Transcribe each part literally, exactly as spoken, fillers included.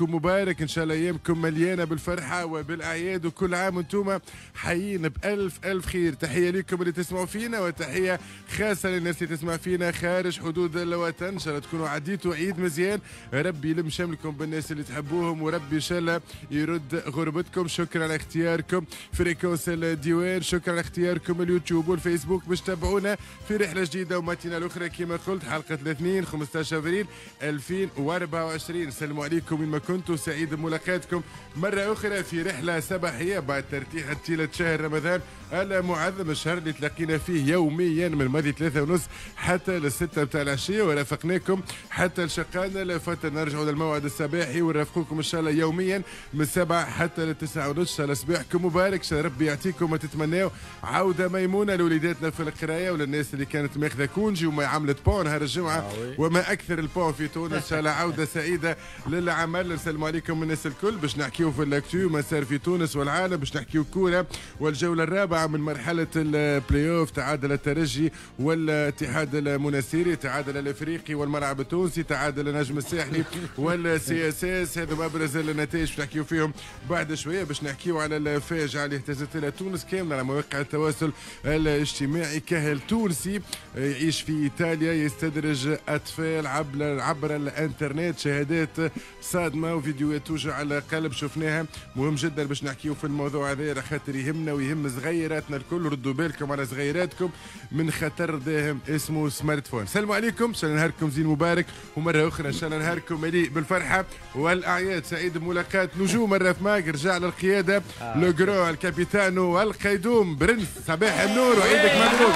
مبارك ان شاء الله، ايامكم مليانة بالفرحه وبالاعياد، وكل عام وانتم حيين بالف الف خير. تحية لكم اللي تسمعوا فينا، وتحية خاصة للناس اللي تسمع فينا خارج حدود الوطن. ان شاء الله تكونوا عديتوا عيد مزيان، ربي يلم شملكم بالناس اللي تحبوهم، وربي ان شاء الله يرد غربتكم. شكرا على اختياركم fréquence الديوان، شكرا على اختياركم اليوتيوب والفيسبوك باش تتابعونا في رحله جديدة و matinale اخرى كما قلت، حلقة الاثنين خمسطاش افريل ألفين وأربعة وعشرين. السلام عليكم وين ما كنتوا، سعيد بملاقاتكم مرة أخرى في رحلة صباحية بعد ترتيح طيلة شهر رمضان المعظم، الشهر اللي تلاقينا فيه يوميا من ماضي ثلاثة ونص حتى للستة بتاع العشية، ورافقناكم حتى لشقانا لفترة. نرجعوا للموعد الصباحي ونرافقوكم إن شاء الله يوميا من سبعة حتى للتسعة ونص. إن شاء الله صباحكم مبارك، إن شاء الله ربي يعطيكم ما تتمناو. عودة ميمونة لوليداتنا في القراية وللناس اللي كانت ماخذة congé وما عملت pont نهار الجمعة، وما أكثر ال pont في تونس. إن شاء الله عودة سعيدة للعمل. السلام عليكم الناس الكل، باش نحكيو في l'actu ما صار في تونس والعالم، باش نحكيو كورة والجوله الرابعة من مرحلة البلاي اوف. تعادل الترجي والاتحاد المنستيري، تعادل الافريقي والملعب التونسي، تعادل النجم الساحلي وال CSS. هذا ابرز النتائج باش نحكيو فيهم بعد شوية. باش نحكيو على الفاجعة اللي اهتزت لها تونس كاملة على مواقع التواصل الاجتماعي. كهل تونسي يعيش في ايطاليا يستدرج اطفال عبر عبر الانترنت، شهادات صادمه وفيديوهات توجع على قلب شفناها. مهم جدا باش نحكيو في الموضوع هذا خاطر يهمنا ويهم صغيراتنا الكل. ردوا بالكم على صغيراتكم من خطر داهم اسمه smartphone. السلام عليكم، ان شاء الله نهاركم زين مبارك، ومرة اخرى ان شاء الله نهاركم مليء بالفرحه والاعياد. سعيد بملاقات نجوم الرف ماك، رجع للقياده le grand الكابيتانو والقيدوم برنس. صباح النور وعيدك مبروك.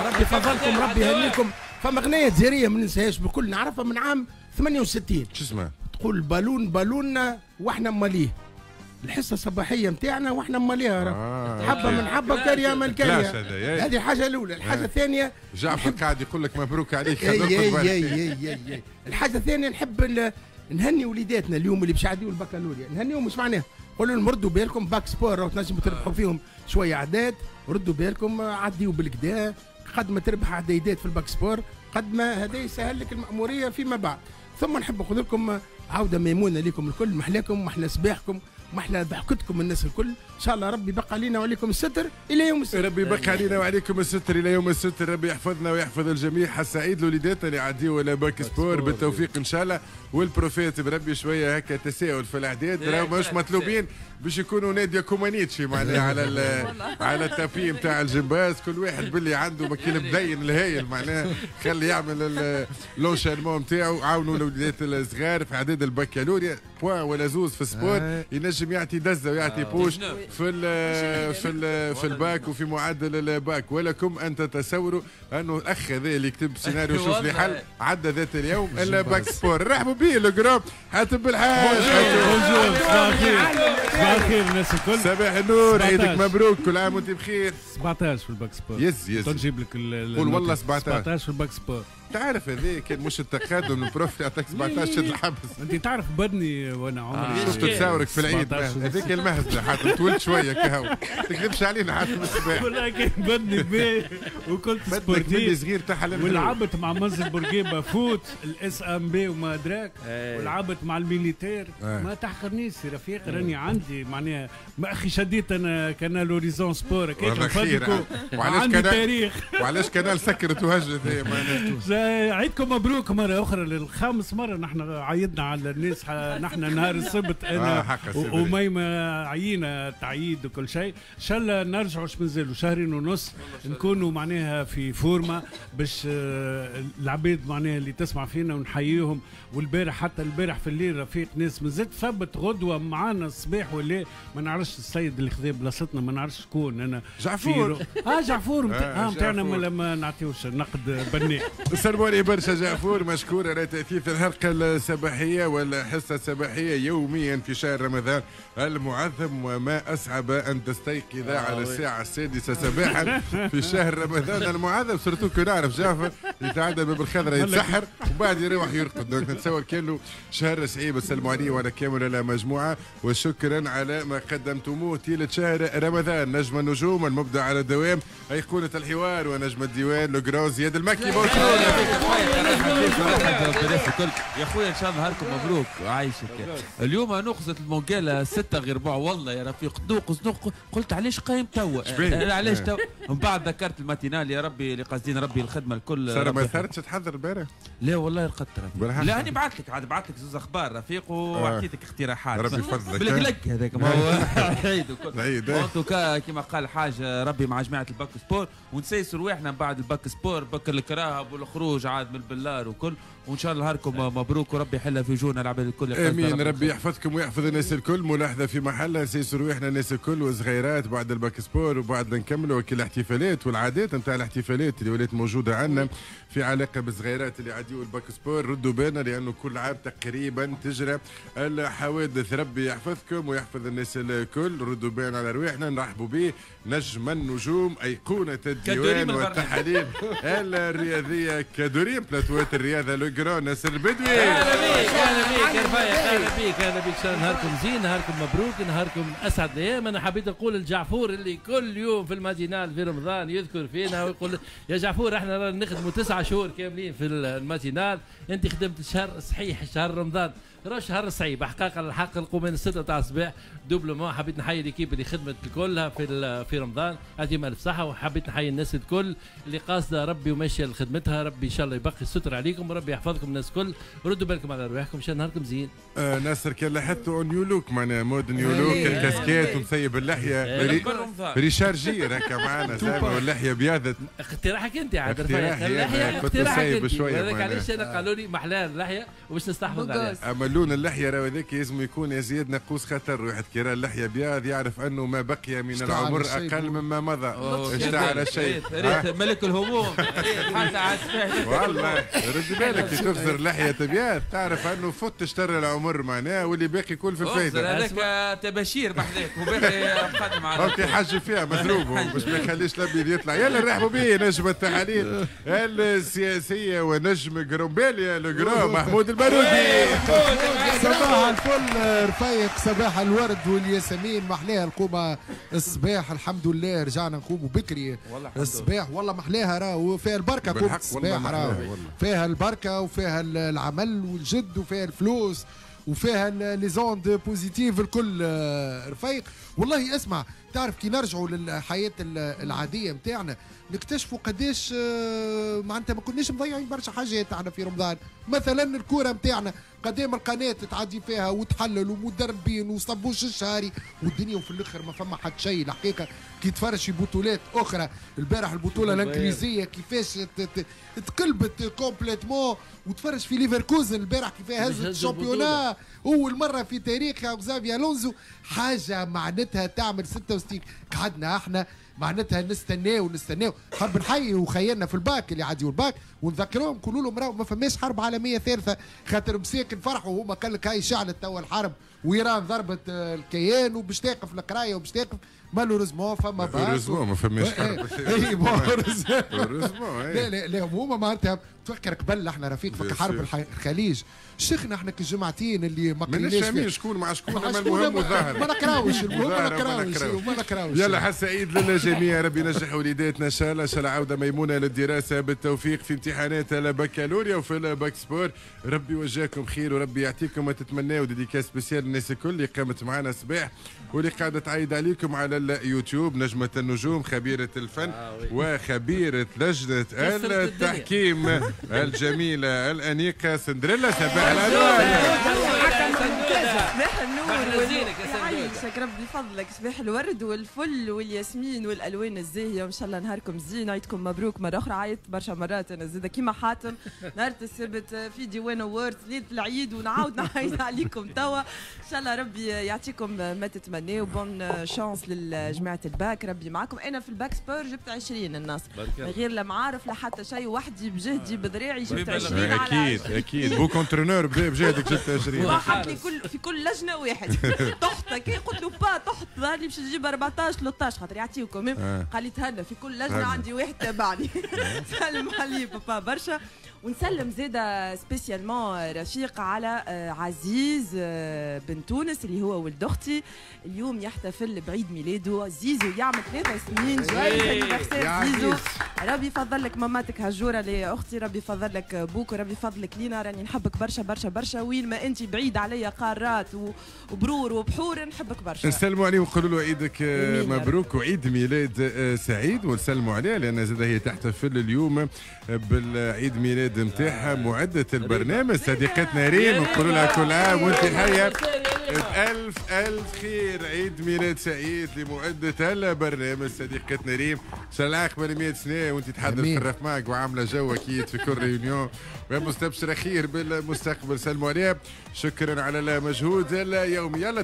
ربي فضلكم، ربي يهنيكم. فما غنية جزائرية ما ننساهاش بكل، نعرفها من عام ثمانية وستين. شو اسمها؟ تقول بالون بالوننا واحنا ماليه. الحصة الصباحية نتاعنا واحنا ماليها. آه حبه من حبه كاريه من كاريه. هذه الحاجة الاولى. الحاجة الثانية جعفر قاعد يقول لك مبروك عليك. اي اي اي اي اي. الحاجة الثانية نحب نهني وليداتنا اليوم اللي باش يعديوا البكالوريا، نهنيهم. مش معناها قولوا لهم ردوا بالكم bac sport راهو تنجموا تربحوا فيهم شوية اعداد، ردوا بالكم عديوا بالكدا، قد ما تربح عديدات في ال bac sport قد ما هذا يسهل لك المأمورية فيما بعد. ثم نحب نقول لكم عودة ميمونة لكم الكل، محلاكم محلى صباحكم محلى ضحكتكم الناس الكل. ان شاء الله ربي بقى علينا وعليكم الستر الى يوم الستر. ربي بقى علينا وعليكم الستر الى يوم الستر، ربي يحفظنا ويحفظ الجميع. حسعيد لوليداتنا اللي عديوا ولا bac sport بالتوفيق ان شاء الله. وال profs بربي شوية هكا تساؤل في الاعداد، راهو ماهوش مطلوبين باش يكونوا نادية كومانيتشي معناها على على ال tapis نتاع الجمباز، كل واحد باللي عنده ماكينة مدين الهايل معناها خلي يعمل l'enchaînement نتاعو. عاونوا الوليدات الصغار في اعداد البكالوريا، point ولا زوز في ال sport ينجم يعطي دزه ويعطي push في ال في ال في الباك وفي معدل الباك. ولكم ان تتصوروا انه الاخ هذا اللي كتب سيناريو شوف لي حل عدى ذات اليوم الا bac sport. رحبوا به le grand حاتم بالحاج. bonjour، صباح الخير. صباح الخير الناس الكل. صباح النور، عيدك مبروك، كل عام وانت بخير. سبعطاش في ال bac sport. يز يز نجيب لك قول والله سبعطاش. سبعطاش في ال bac sport. تعرف هذا كان مش التقادم ال prof يعطيك سبعطاش شد الحبس. انت تعرف بدني وانا عمري شفت تصاورك في العيد هذيك المهزلة حاتم، طولت شوية كهو تكذبش علينا حاتم الصباح. والله كان بدني باهي وكنت sportif صغير تاع ولعبت مع منزل بورقيبة foot ال SMB وما ادراك، ولعبت مع ال militaire. ما تحقرنيش يا رفيق، راني عندي معناها ما اخي شديت انا Canal Horizon Sport كيف عندي تاريخ. وعلاش Canal سكرت وهجت هي معناها. عيدكم مبروك مرة أخرى للخامس مرة. نحن عيدنا على الناس، نحن نهار السبت أنا وأميمة عينا تعييد وكل شيء. إن شاء الله نرجعوا اش مازالوا شهرين ونص نكونوا معناها في forme باش العباد معناها اللي تسمع فينا ونحييهم. والبارح حتى البارح في الليل رفيق ناس مازالت ثبت غدوة معانا الصباح ولا ما نعرفش السيد اللي خذا بلاصتنا ما نعرفش شكون. أنا جعفور اه جعفور اه نتاعنا ما نعطيوش نقد بناء. سلموني برشا جعفور، مشكور على تأثيث الحلقة الصباحية والحصة الصباحية يوميا في شهر رمضان المعظم. وما أصعب أن تستيقظ آه على الساعة السادسة صباحا في شهر رمضان المعظم، surtout كي نعرف جعفر يتعدى باب الخضرة يتسحر وبعد يروح يرقد. donc نتصور كان شهر صعيب. السلام عليكم وعلى كامل المجموعة، وشكرا على ما قدمتموه طيلة شهر رمضان. نجم النجوم المبدع على الدوام، أيقونة الحوار ونجم الديوان le grand زياد المكي. bonjour. بك يا خويا، ان شاء الله نهاركم مبروك وعايشك. اليوم نقصت المونجالا ستة غير ربع، والله يا رفيق نوقص نوقص، قلت علاش قايم توا؟ علاش توا؟ من بعد ذكرت ال matinale يا ربي اللي قاصدين ربي الخدمة الكل. سارة ما صارتش تحضر البارح؟ لا والله رقدت رفيق. لا انا بعثت لك عاد بعثت لك زوز اخبار رفيق وعطيتك اقتراحات. ربي يفضلك. بالقلق هذاك ما هو عيد وكل. العيد. en tout cas كيما قال حاجة ربي مع جماعة ال bac sport ونسيسوا رواحنا بعد ال bac sport بك الكراهب والخروج عاد من البلار وكل، وان شاء الله نهاركم مبروك وربي يحلها في وجوهنا العباد الكل. امين، ربي يحفظكم ويحفظ الناس الكل. ملاحظة في محلها، نسيسوا رواحنا الناس الكل وصغيرات بعد ال bac sport وبعد نكملوا كل الاحتفالات والعادات نتاع الاحتفالات اللي ولات موجودة عندنا في علاقة بالصغيرات اللي عاديوا ال bac sport. ردوا بالنا لانه كل عام تقريبا تجرى الحوادث. ربي يحفظكم ويحفظ الناس الكل. ردوا بالنا على رواحنا. نرحبوا به نجم النجوم ايقونة الديوان والتحاليل الرياضية كدوريم بلاتوات الرياضة le grand ناصر البدوي. اهلا بيك اهلا بيك يا رفايق، اهلا بيك اهلا بيك. نهاركم زين، نهاركم مبروك، نهاركم اسعد الايام. انا حبيت نقول الجعفور اللي كل يوم في ال matinale في رمضان يذكر فينا ويقول يا جعفور احنا نخدموا تسعة شهور كاملين في ال matinale، انت خدمت شهر صحيح شهر رمضان راه شهر صعيب حقيقة. الحق نقوم من ستة تاع الصباح doublement. حبيت نحيي l'équipe اللي خدمت كلها في في رمضان، يعطيهم الف صحة. وحبيت نحيي الناس الكل اللي قاصده ربي وماشية لخدمتها. ربي ان شاء الله يبقي الستر عليكم وربي يحفظكم الناس الكل. ردوا بالكم على رواحكم، ان شاء الله نهاركم زين. آه ناصر كان لاحظتوا new look معناها mode new look، ال casquette ومسيب اللحية rechargé هكا معانا زعما واللحية بياضت. اقتراحك انت عاد اللحية، اقتراحك انت هذاك علاش انا قالوا لي محلاها اللحية وباش نستحفظ عليها. اما لون اللحية راهو هذاك لازم يكون يا زياد ناقوس خطر. واحد كي راه اللحية بياض يعرف انه ما بقي من العمر اقل مما مضى. اشتعل الشيء ملك الهموم حتى عاد والله رد بالك كي تخزر لحية بياض تعرف انه فت اشترى العمر معناه واللي باقي كل في الفايدة. هذاك تباشير بحذاك وباقي مقدم على okay حاجة فيها مزروب باش ما يخليش الابيض يطلع. يلا نرحبوا به نجم التحاليل السياسية ونجم قرمباليا le grand محمود البارودي. صباح الفل رفيق، صباح الورد والياسمين. محلاها القومة الصباح، الحمد لله رجعنا نقوموا بكري الصباح. والله محلاها راهو فيها البركة قومة الصباح، راهو فيها البركة وفيها العمل والجد وفيها الفلوس وفيها les ondes positives الكل رفيق. والله اسمع، تعرف كي نرجعوا للحياة العادية نتاعنا نكتشفوا قداش معناتها ما كناش مضيعين برشا حاجات احنا في رمضان. مثلا الكورة نتاعنا قدام القناة تعدي فيها وتحلل ومدربين وصبوش الشهري والدنيا، وفي الاخر ما فما حد شيء. الحقيقة كي تفرج في بطولات اخرى، البارح البطولة الانجليزية كيفاش تقلبت complètement، وتفرج في ليفركوزن البارح كيفاش هزت ال championnat اول مرة في تاريخها وزافي الونزو، حاجة معناتها تعمل ستة وستين. قعدنا احنا معناتها نستناو نستناو. حاب نحيي وخيالنا في الباك اللي عاديوا الباك ونذكرهم نقولوا لهم راهو ما فماش حرب عالمية ثالثة، خاطر مساكن فرحوا هما قال لك هاي شعلت توا الحرب وايران ضربت الكيان وباش تقف القراية وباش تقف. malheureusement فما bac heureusement ما فماش حرب. اي لا لا لا هما معناتها تفكر قبل احنا رفيق فك حرب الخليج شيخنا احنا كالجمعتين اللي ما قريناش فاهمين شكون مع شكون، اما المهم وظاهر ما نقراوش، المهم ما نقراوش وما نقراوش. يلا حس سعيد للجميع، ربي ينجح وليداتنا ان شاء الله، ان شاء الله عوده ميمونة للدراسة بالتوفيق في امتحانات البكالوريا وفي ال bac sport. ربي يوجهكم خير وربي يعطيكم ما تتمناو. dédicace spéciale للناس الكل اللي قامت معنا الصباح واللي قاعدة تعيد عليكم على اليوتيوب. نجمه النجوم خبيرة الفن آه وخبيره لجنة التحكيم الجميلة الانيقه سندريلا. صباح الانوار. صباح النور يعيشك ربي فضلك. صباح الورد والفل والياسمين والالوان الزاهيه، وان شاء الله نهاركم زين، عيدكم مبروك مرة اخرى. عيطت برشا مرات انا زاده كيما حاتم نهار السبت في ديوان اوورد ليلة العيد، ونعاود نعيد عليكم توا. ان شاء الله ربي يعطيكم ما تتمناو، bonne chance لجماعة الباك، ربي معاكم. انا في ال bac sport جبت عشرين الناس غير لا معارف لا حتى شيء، وحدي بجهدي بذراعي جبت عشرين. اكيد اكيد beau entraîneur بجهدك جبت عشرين. حط لي كل في كل لجنة واحد طحت كي قلت له با طحت ظهر لي باش نجيب أربعطاش ثلاثطاش خاطر يعطيوكم. قال لي تهنى في كل لجنة عندي واحد تابعني. سلم علي بابا برشا. ونسلم زاده spécialement رفيق على عزيز بن تونس اللي هو ولد اختي، اليوم يحتفل بعيد ميلاده. زيزو يعمل ثلاثة سنين، joyeux anniversaire زيزو، ربي يفضل لك ماماتك هجوره اللي اختي، ربي يفضل لك بوك وربي يفضلك لينا، راني نحبك برشا برشا برشا، وين ما انت بعيد عليا قارات وبرور وبحور نحبك برشا. نسلموا عليه ونقولوا له عيدك مبروك وعيد ميلاد سعيد، ونسلموا عليه لان زاد هي تحتفل اليوم بالعيد ميلاد نتاعها معدة البرنامج صديقتنا ريم، نقولوا لها كل عام وانت حيه بألف ألف خير. عيد ميلاد سعيد لمعدة البرنامج صديقتنا ريم، إن شاء الله العاقبة ل مية سنة وأنت تحضر في الرفماك وعاملة جو أكيد في كل réunion ومستبشرة خير بالمستقبل. سلموا عليها، شكرا على المجهود اليومي. يلا.